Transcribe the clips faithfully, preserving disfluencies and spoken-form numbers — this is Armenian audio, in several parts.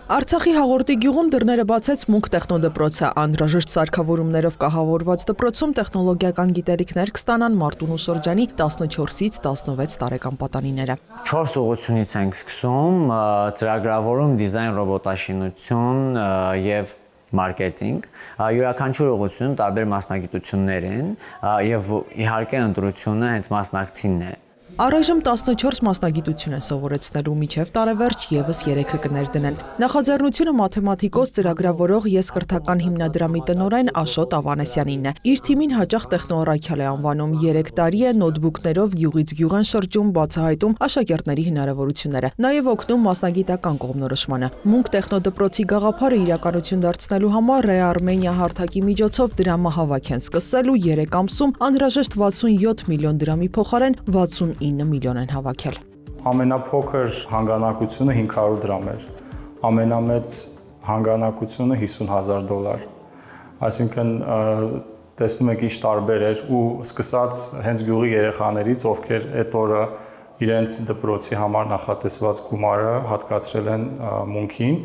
Արցախի Հաղորդի գյուղում դռները բացեց Մունք տեխնոդպրոցը, անհրաժեշտ սարքավորումներով կահավորված դպրոցում տեխնոլոգիական գիտելիքներ կստանան Մարտունու շրջանի տասնչորսից տասնվեց տարեկան պատանիները։ Չորս ուղղությունից ենք սկսում՝ ծրագրավորում, դիզայն, ռոբոտաշինություն եւ մարքեթինգ, յուրաքանչյուր ուղղությունում տարբեր մասնագիտություններ են եւ իհարկե ընտրությունը հենց մասնակցինն է։ Առայժմ տասնչորս մասնագիտություն է սովորեցնելու, մինչև տարեվերջ ևս երեքը կներդնեն։ Նախաձեռնությունը մաթեմատիկոս ծրագրավորող Ես կրթական հիմնադրամի տնօրեն Աշոտ Ավանեսյանինն է։ Իր թիմին հաճախ տեխնոառաքյալ է անվանում, երեք տարի է նոթբուքներով գյուղից գյուղ են շրջում, բացահայտում աշակերտների հնարավորությունները, նաև օգնում մասնագիտական կողմնորոշմանը։ Մունք տեխնոդպրոցի գաղափարը իրականություն դարձնելու համար Ռե Արմենիա հարթակի միջոցով դրամահավաք են սկսել ու երեք ամսում անհրաժեշտ վաթսունյոթ միլիոն դրամի փոխարեն վաթսունինը միլիոն են հավաքել։ Ամենափոքր հանգանակությունը հինգ հարյուր դրամ էր, ամենամեծ հանգանակությունը հիսուն հազար դոլար, այսինքն տեսնում եք ինչ տարբեր էր ու սկսած հենց գյուղի երեխաներից, ովքեր այդ օրը իրենց դպրոցի համար նախատեսված գումարը հատկացրել են Մունքին,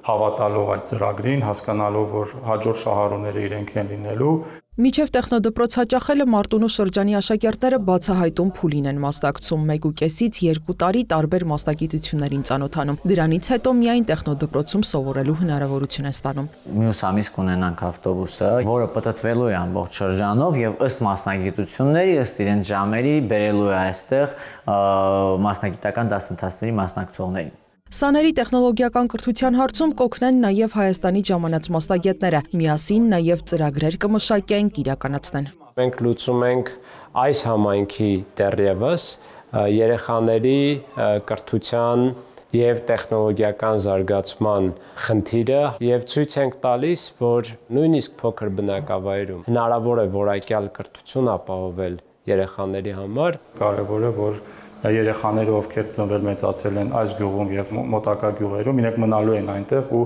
հավատալով այդ ծրագրին, հասկանալով, որ հաջորդ շահառուները իրենք են լինելու։ Մինչև տեխնոդպրոց հաճախելը Մարտունու շրջանի աշակերտները բացահայտում փուլին են մասնակցում, մեկ ու կեսից երկու տարի տարբեր մասնագիտություններին ծանոթանում։ Դրանից հետո միայն տեխնոդպրոցում սովորելու հնարավորություն են ստանում։ Մյուս ամիս կունենանք ավտոբուսը, որը պտտվելու է ամբողջ շրջանով եւ ըստ մասնագիտությունների, ըստ իրենց ժամերի բերելու է այստեղ մասնագիտական դասընթացների մասնակցողներին։ Սաների տեխնոլոգիական կրթության հարցում կօգնեն նաև Հայաստանի ժամանած մասնագետները, միասին նաև ծրագրեր կմշակենք, իրականացնեն։ Մենք լուծում ենք այս համայնքի դեռևս երեխաների կրթության եւ տեխնոլոգիական զարգացման խնդիրը եւ ցույց ենք տալիս, որ նույնիսկ փոքր բնակավայրում հնարավոր է որակյալ կրթություն ապահովել երեխաների համար։ Կարևոր է, որ երեխաները, ովքեր ծնվել մեծացել են այս գյուղում եւ մոտակա գյուղերում, իրենք մնալու են այնտեղ ու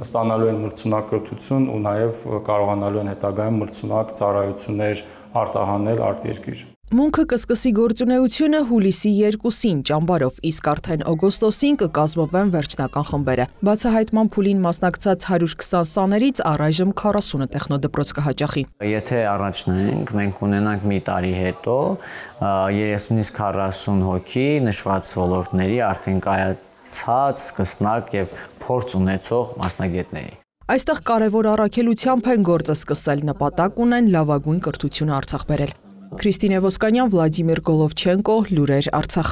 ստանալու են մրցունակ կրթություն ու նաեւ կարողանալու են հետագայում մրցունակ ծառայություններ արտահանել արտերկիր։ Մունքը կսկսի գործունեությունը հուլիսի երկուսին ճամբարով, իսկ արդեն օգոստոսին կկազմվեն վերջնական խմբերը։ Բացահայտման փուլին մասնակցած հարյուր քսան սաներից առայժմ քառասունը տեխնոդպրոց կհաճախի։ Եթե առաջնենք, մենք ունենանք մի տարի հետո երեսունից քառասուն հոգի նշված ոլորտների արդեն կայացած, սկսնակ եւ փորձ ունեցող մասնագետների։ Այստեղ կարևոր առաքելությամբ են գործը սկսել, նպատակ ունեն լավագույն կրթությունը Արցախ բերել։ Քրիստինե Ոսկանյան, Վլադիմիր Գոլովչենկո, Լուրեր, Արցախ։